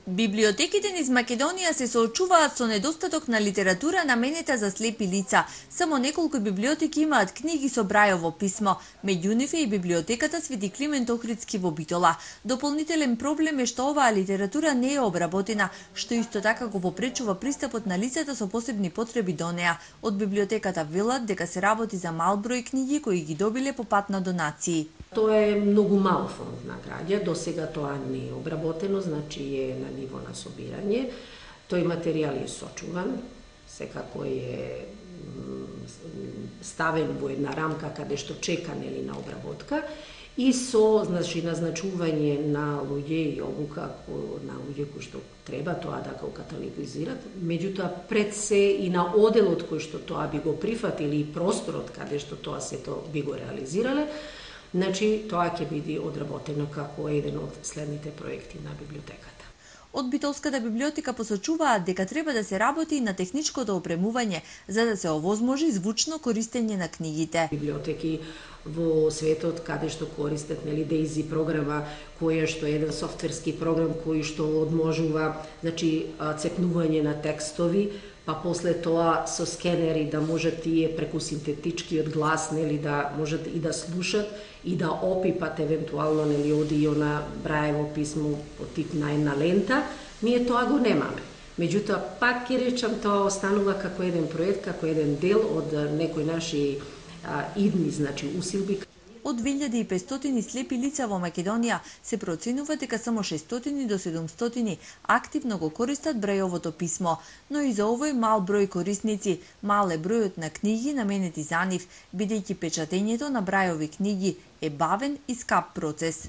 Библиотеките низ Македонија се соочуваат со недостаток на литература наменета за слепи лица. Само неколку библиотеки имаат книги со Брајово писмо, меѓу нив е и библиотеката Свети Климент Охридски во Битола. Дополнителен проблем е што оваа литература не е обработена, што исто така го попречува пристапот на лицата со посебни потреби до неа. Од библиотеката велат дека се работи за мал број книги кои ги добиле по пат на донации. Тоа е многу мал фонд на граѓа, до сега тоа не е обработено, значи е на ниво на собирање. Тој материјал е сочуван, секако е ставен во една рамка каде што чека на обработка и со назначување на луѓе и обука на луѓе кои што треба тоа да го каталогизират. Меѓутоа пред се и на оделот кој што тоа би го прифатили и просторот каде што тоа сето би го реализирале, значи тоа ќе биде одработено како еден од следните проекти на библиотеката. Од Битолската библиотека посочуваат дека треба да се работи на техничкото опремување за да се овозможи звучно користење на книгите. Библиотеки во светот каде што користат Дейзи програма, која што е еден софтверски програм кој што одможува цепнување на текстови, па после тоа со скенери да можат тие преку синтетичкиот глас да можат и да слушат и да опипат евентуално оди на Брајево писмо по тип на една лента, ние тоа го немаме. Меѓутоа, пак ќе речам, тоа останува како еден проект, како еден дел од некои наши идни, усилби. Од 2500 слепи лица во Македонија се проценува дека само 600 до 700 активно го користат Брајовото писмо, но и за овој мал број корисници мал е бројот на книги наменети за нив, бидејќи печатењето на Брајови книги е бавен и скап процес.